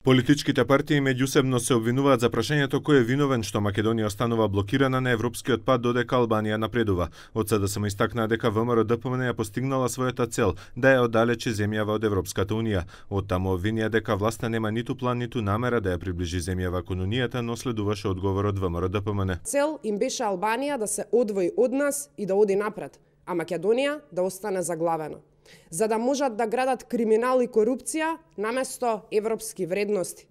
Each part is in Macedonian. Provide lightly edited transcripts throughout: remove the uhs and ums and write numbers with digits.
Политичките партии меѓусебно се обвинуваат за прашањето кој е виновен што Македонија останува блокирана на европскиот пат додека Албанија напредува. Од СДСМ истакнаа дека ВМРО-ДПМН ја постигнала својата цел да ја оддалечи земјава од Европската унија. Од таму обвинија дека власта нема ниту план ниту намера да ја приближи земјава кон унијата, но следуваше одговорот ВМРО-ДПМН. Цел им беше Албанија да се одвои од нас и да оди напред, а Македонија да остане заглавена, за да можат да градат криминал и корупција наместо европски вредности.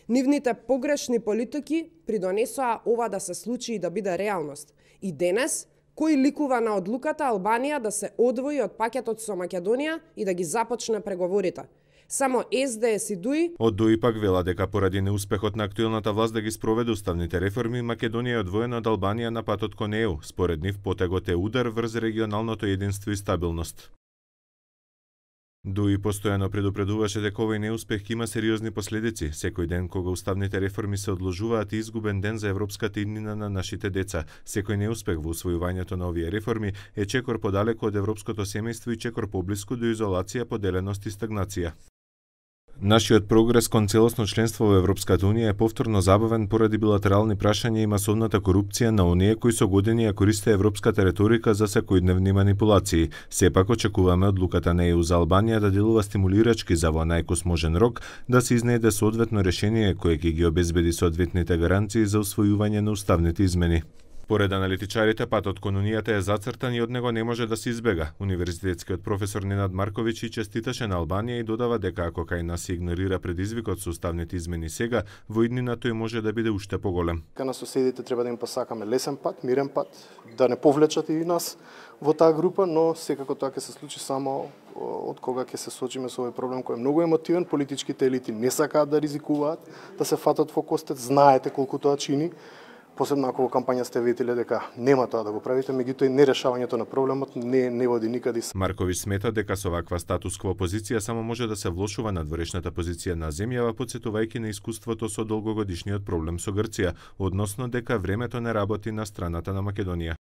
Нивните погрешни политики придонесоа ова да се случи и да биде реалност. И денес, кој ликува на одлуката Албанија да се одвои од пакетот со Македонија и да ги започне преговорите? Само СДС и ДУИ. Од ДУИ пак вела дека поради неуспехот на актуелната власт да ги спроведе уставните реформи, Македонија е одвоена од Албанија на патот кон ЕУ. Според нив потегот е удар врз регионалното единство и стабилност. ДУИ постојано предупредуваше дека овој неуспех има сериозни последици. Секој ден кога уставните реформи се одложуваат, изгубен ден за европската иднина на нашите деца. Секој неуспех во усвојувањето на овие реформи е чекор подалеку од европското семејство и чекор поблиску до изолација, поделеност и стагнација. Нашиот прогрес кон целосно членство во Европската унија е повторно забавен поради билатерални прашања и масовната корупција на оние кои со години ја користе европската реторика за секојдневни манипулации. Сепак очекуваме одлуката на ЕУ за Албанија да делува стимулирачки за во најкосможен рок да се изнеде соодветно решение кое ќе ги обезбеди соодветните гаранции за усвојување на уставните измени. Поред аналитичарите, патот кон унијата е зацртан и од него не може да се избега. Универзитетскиот професор Ненад Марковиќ и честиташе на Албанија и додава дека ако кај нас се игнорира предизвикот со уставните измени сега, во иднина тој може да биде уште поголем. На соседите треба да им посакаме лесен пат, мирен пат, да не повлечат и нас во таа група, но секако тоа ќе се случи само од кога ќе се соочиме со овој проблем кој е многу емотивен. Политичките елити не сакаат да ризикуваат, да се фатат во костет, знаете колку тоа чини. Посебно ако во кампања сте виделе дека нема тоа да го правите, меѓутоа нерешавањето на проблемот не води никаде. Марковиќ смета дека со ваква статус-кво позиција само може да се влошува надворешната позиција на земјава, потсетувајќи на искуството со долгогодишниот проблем со Грција, односно дека времето не работи на страната на Македонија.